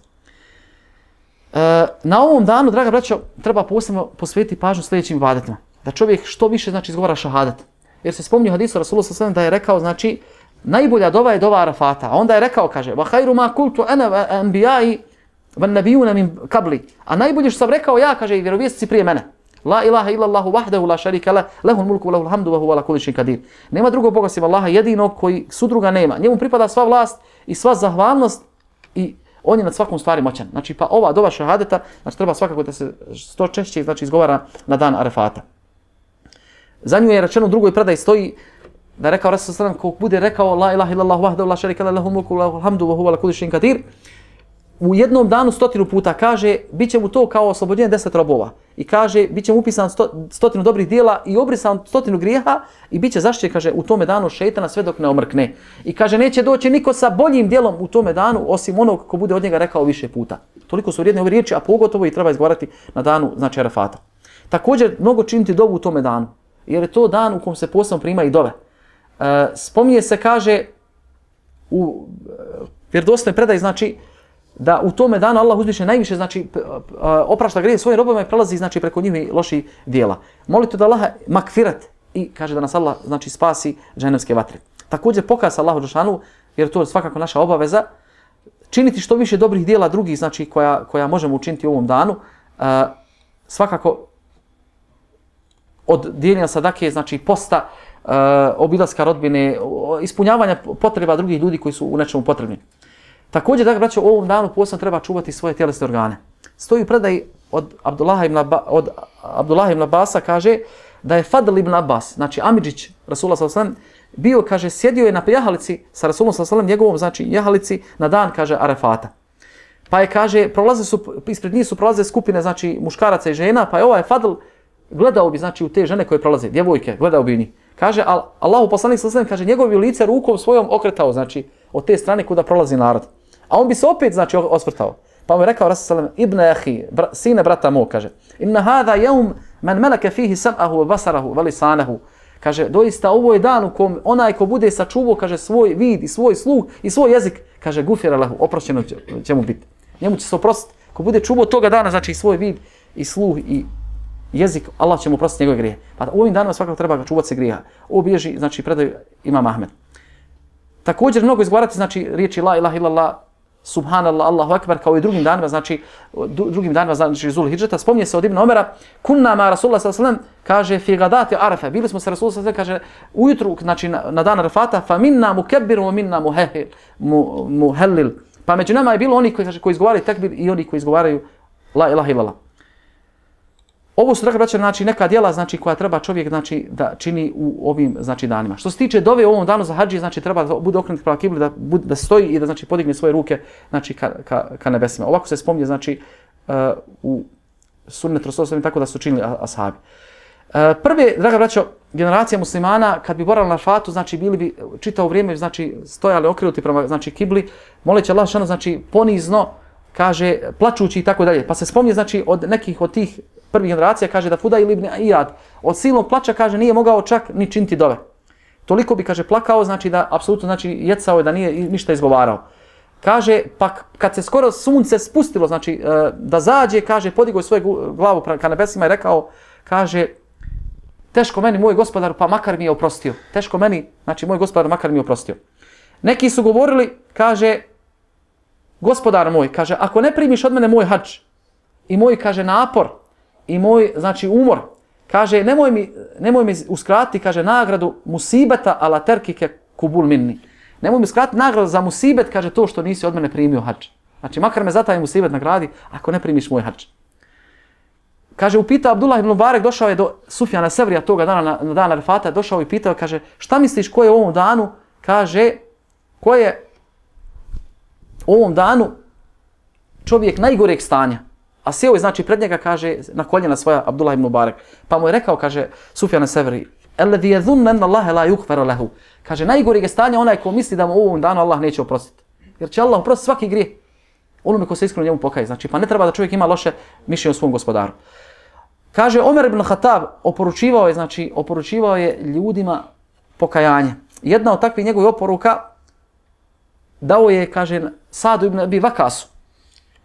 E, na ovom danu, draga braćo, treba posebno posvetiti pažnju sljedećim ibadetima. Da čovjek što više, znači, izgovara šahadat. Jer se spominje u hadisu Rasulullah sallallahu alejhi ve sellem da je rekao, znači, najbolja dova je dova Arafata. A onda je rekao, kaže, wa khairu ma qultu ana wa anbiya'i wan nabiyuna min qabli. A najbolje što sam rekao ja, kaže, i vjerovjesnici prije mene. La ilaha illallahu wahdahu la sharika lah, lahul mulku wa lahul hamdu wa huwa ala kulli shay'in qadir. Nema drugog Boga osim Allaha jedinog koji sudruga nema. Njemu pripada sva vlast i sva zahvalnost i on je nad svakom stvari moćan. Znači, pa ova dova šahadeta, znači, treba svakako da se što češće, znači, izgovara na dan Arafata. Za nju je rečeno u drugoj predaji stoji da je rekao Rasul sallallahu alejhi ve sellem, ko bude rekao la ilaha illallahu wahdahu la sharika lah, lahul mulku wa lahul hamdu wa huwa ala kulli shay'in qadir, u jednom danu stotinu puta kaže, bit će mu to kao oslobođenje deset robova. I kaže, bit će mu upisan sto, stotinu dobrih dijela i obrisan stotinu grijeha i bit će zaštićen, kaže, u tome danu šejtana sve dok ne omrkne. I kaže, neće doći niko sa boljim dijelom u tome danu, osim onog ko bude od njega rekao više puta. Toliko su vrijedne ove riječi, a pogotovo i treba izgovarati na danu, znači, Arafata. Također, mnogo činiti dovu u tome danu, jer je to dan u kom se posebno prima i dove. E, spominje se, kaže, u e, vjerodostojnoj predaji, znači, da u tome danu Allah uzviše najviše, znači, oprašta grijehe svojim robovima i prelazi, znači, preko njihovih loših dijela. Molite da Allaha makfirat i kaže da nas Allah, znači, spasi džehennemske vatre. Također pokaza Allahu dželešanu, jer to je svakako naša obaveza, činiti što više dobrih dijela drugih, znači, koja, koja možemo učiniti u ovom danu. A, svakako od dijeljenja sadake, znači, posta, a, obilaska rodbine, ispunjavanja potreba drugih ljudi koji su u nečemu potrebni. Također, dakle, braćo, u ovom danu posebno treba čuvati svoje tjelesne organe. Stoji u predaji od Abdullaha ibn, Abba, od Abdullaha ibn Abbasa, kaže da je Fadl ibn Abbas, znači Amidžić, Rasulullah sallallahu alejhi ve sellem, bio, kaže, sjedio je na jahalici sa Rasulullah sallallahu alejhi ve sellem, njegovom, znači, jahalici na dan, kaže, Arafata. Pa je, kaže, prolaze su, ispred njih su prolaze skupine, znači, muškaraca i žena, pa je ovaj Fadl gledao bi, znači, u te žene koje prolaze, djevojke, gledao bi njih. Kaže, al, Allahu poslanik sallallahu alejhi ve sellem, kaže, njegovo lice rukom svojom okretao, znači, od te strane kuda prolazi narod. A on bi se opet, znači, osvrtao. Pa mu je rekao Rasul sallallahu alejhi ve sellem, ibn ahi, bra, sine brata mog, kaže, inna hada yawm man malaka fihi sam'ahu wa basarahu wa lisanahu. Kaže, doista ovo je dan u kom onaj ko bude sačuvao, kaže, svoj vid i svoj sluh i svoj jezik, kaže, gufira lahu, oprošćeno će, će mu biti. Njemu će se oprostiti. Ko bude čuvao toga dana, znači, svoj vid i sluh i jezik, Allah će mu oprostiti njegove grijehe. Pa u ovim danima svakako treba ga čuvati se grijeha. Ovo bilježi, znači, predaju Imam Ahmed. Također mnogo izgovarati, znači, riječi la ilaha illallah, subhanallah, Allahu akbar, kao i drugim danima, znači, drugim danima, znači, Zul Hidžeta. Spominje se od Ibn Omera, kunna ma Rasulullah sallallahu alejhi ve sellem, kaže, fi gadati Arafa, bili smo sa Rasulullah sallallahu alejhi ve sellem, kaže, ujutru, znači, na, na dan Arafata, fa minna mukebbir, wa minna muhehil, mu, muhellil. Pa među nama je bilo oni koji, kaže, koji izgovaraju tekbir i oni koji izgovaraju la ilaha illallah. Ovo su, draga braćo, znači, neka djela, znači, koja treba čovjek, znači, da čini u ovim, znači, danima. Što se tiče dove u ovom danu za hadži, znači, treba da bude okrenut prema kibli, da, da stoji i da, znači, podigne svoje ruke, znači, ka, ka, ka nebesima. Ovako se spominje, znači, uh, u sunnetu Rasulullah tako da su činili ashabi. Uh, prve, draga braćo, generacija muslimana, kad bi boravili na Arafatu, znači, bili bi čitavo vrijeme, znači, stojali okrenuti prema, znači, kibli, moleći Allah šano, znači, ponizno, kaže, plačući i tako dalje. Pa se spominje, znači, od nekih od tih prvih generacija, kaže da Fudail ibn Iyad od silnog plača, kaže, nije mogao čak ni činiti dove. Toliko bi, kaže, plakao, znači da apsolutno, znači, jecao je da nije ništa izgovarao. Kaže, pa kad se skoro sunce spustilo, znači da zađe, kaže, podigao je svoju glavu ka nebesima i rekao, kaže, teško meni, moj gospodar, pa makar mi je oprostio. Teško meni, znači, moj gospodar, makar mi je oprostio. Neki su govorili, kaže, gospodar moj, kaže, ako ne primiš od mene moj hadž i moj, kaže, napor i moj, znači, umor, kaže, nemoj mi, nemoj mi uskratiti, kaže, nagradu musibeta ala terkike kubul minni. Nemoj mi uskratiti nagradu za musibet, kaže, to što nisi od mene primio hadž. Znači, makar me za taj musibet nagradi, ako ne primiš moj hadž. Kaže, upitao Abdullah ibn Mubarek, došao je do Sufjana Sevrija toga dana, na, na dan Arefata, došao i pitao, kaže, šta misliš ko je u ovom danu, kaže, ko je u ovom danu čovjek najgoreg stanja. A sjeo je, znači, pred njega, kaže, na koljena svoja Abdullah ibn Mubarek. Pa mu je rekao, kaže, Sufjan Severi, alladhi yadhunnu anna Allaha la yughfaru lahu. Kaže, najgoreg je stanje onaj ko misli da mu u ovom danu Allah neće oprostiti. Jer će Allah oprostiti svaki grijeh onome ko se iskreno njemu pokaje. Znači, pa ne treba da čovjek ima loše mišljenje o svom gospodaru. Kaže, Omer ibn Khattab oporučivao je, znači, oporučivao je ljudima pokajanje. Jedna od takvih njegovih oporuka dao je, kaže, Sadu ibn Abi Vakasu.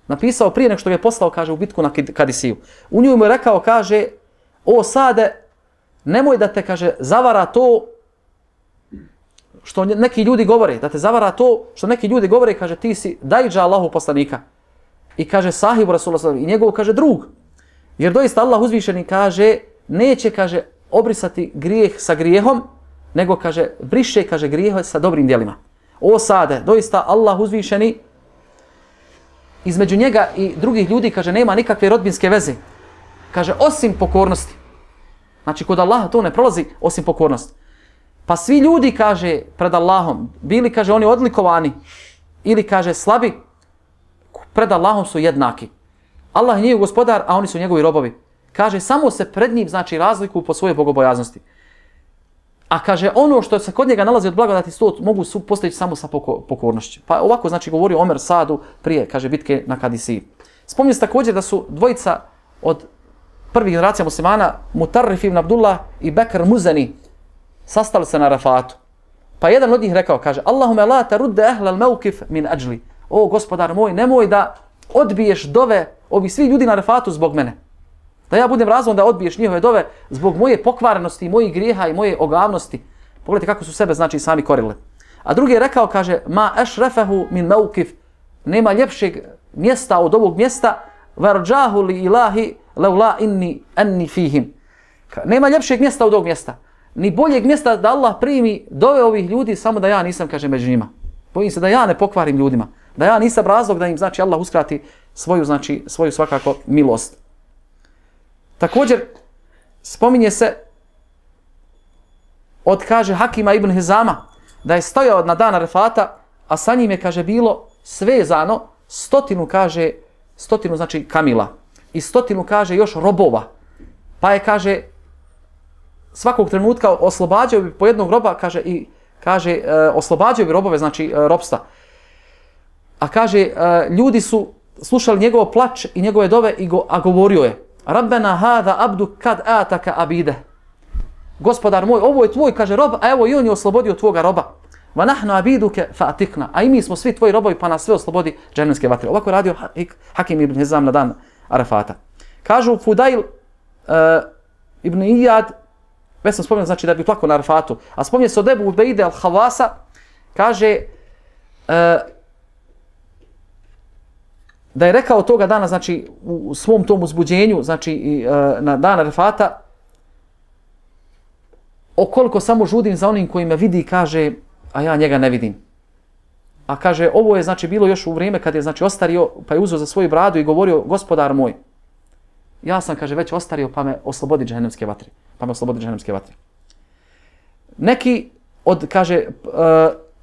Napisao prije nego što ga je poslao, kaže, u bitku na Kadisiju. U njoj mu je rekao, kaže, o Sade, nemoj da te, kaže, zavara to što neki ljudi govore, da te zavara to što neki ljudi govore, kaže, ti si dajđa Allahu poslanika. I kaže, sahibu Rasulullah i njegov, kaže, drug. Jer doista Allah uzvišeni, kaže, neće, kaže, obrisati grijeh sa grijehom, nego, kaže, briše, kaže, grijeh sa dobrim djelima. O Sade, doista Allah uzvišeni, između njega i drugih ljudi, kaže, nema nikakve rodbinske veze. Kaže, osim pokornosti. Znači, kod Allaha to ne prolazi osim pokornosti. Pa svi ljudi, kaže, pred Allahom, bili, kaže, oni odlikovani ili, kaže, slabi, pred Allahom su jednaki. Allah je njegov gospodar, a oni su njegovi robovi. Kaže, samo se pred njim, znači, razlikuju po svojoj bogobojaznosti. A kaže, ono što se kod njega nalazi od blagodati, to mogu postojići samo sa pokornošću. Pa ovako, znači, govorio Omer Sadu prije, kaže, bitke na Kadisiji. Spominje se također da su dvojica od prvih generacija muslimana, Mutarrif ibn Abdullah i Bekr Muzani, sastali se na Arefatu. Pa jedan od njih rekao, kaže, Allahume la tarudde ehlal mevkif min ajli. O, gospodar moj, nemoj da odbiješ dove ovih svih ljudi na Arefatu zbog mene. Da ja budem razlogom da odbiješ njihove dove zbog moje pokvarenosti, mojih grijeha i moje ogavnosti. Pogledajte kako su sebe, znači, sami korili. A drugi je rekao, kaže, ma ešrefehu min mevkif. Nema ljepšeg mjesta od ovog mjesta, varđahu li ilahi leula inni enni fihim. Nema ljepšeg mjesta od ovog mjesta. Ni boljeg mjesta da Allah primi dove ovih ljudi, samo da ja nisam, kaže, među njima. Bojim se da ja ne pokvarim ljudima. Da ja nisam razlog da im, znači, Allah uskrati svoju, znači, svoju svakako milost. Također, spominje se od, kaže, Hakima ibn Hizama, da je stojao na dan Arefata, a sa njim je, kaže, bilo svezano stotinu, kaže, stotinu, znači, kamila. I stotinu, kaže, još robova. Pa je, kaže, svakog trenutka oslobađao bi po jednog roba, kaže, i, kaže, e, oslobađao bi robove, znači, e, robstva. A, kaže, e, ljudi su slušali njegov plač i njegove dove, i go, a govorio je, Rabbena hada abdu kad ataka abide. Gospodar moj, ovo je tvoj, kaže, rob, a evo i on je oslobodio tvoga roba. Va nahnu abiduke fa atikna. A i mi smo svi tvoji robovi, pa nas sve oslobodi džehennamske vatre. Ovako je radio Hakim ibn Hizam na dan Arefata. Kažu Fudail uh, ibn Iyad, već sam spomenuo, znači, da bi plakao na Arefatu. A spominje se od Ebu Ubejde al-Havasa, kaže, uh, da je rekao toga dana, znači, u svom tom uzbuđenju, znači, i, uh, na dan Arefata, okoliko samo žudim za onim koji me vidi, kaže, a ja njega ne vidim. A kaže, ovo je, znači, bilo još u vrijeme kad je, znači, ostario, pa je uzeo za svoju bradu i govorio, gospodar moj, ja sam, kaže, već ostario, pa me oslobodi džehennamske vatre. Pa me oslobodi džehennamske vatre. Neki od, kaže, uh,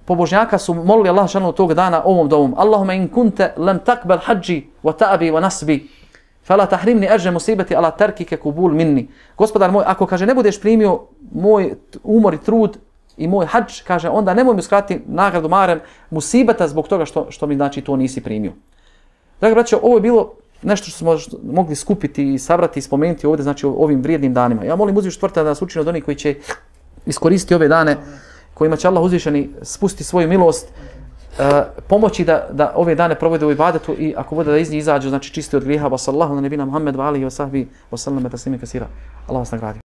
pobožnjaka su molili Allah šanu tog dana ovom dovom. Allahumma in kunte lem takbel hađi wa ta'abi wa nasbi. Fala tahrimni ajra musibati ala tarkike kubul minni. Gospodar moj, ako, kaže, ne budeš primio moj umor i trud i moj hadž, kaže, onda nemoj mi uskratiti nagradu marem musibata zbog toga što, što mi, znači, to nisi primio. Dakle, braćo, ovo je bilo nešto što smo mogli skupiti i sabrati i spomenuti ovdje, znači ovim vrijednim danima. Ja molim uzvišenog Tvorca da nas učini od onih koji će iskoristiti ove dane, kojima će Allah uzvišeni spustiti svoju milost, uh, pomoći da, da ove dane provode u ibadetu i ako bude da iz njih izađu, znači čisti od grijeha. Wa sallahu na nebina Muhammed wa alihi wa sahbihi wa sallam taslima kasira. Allah vas nagradi.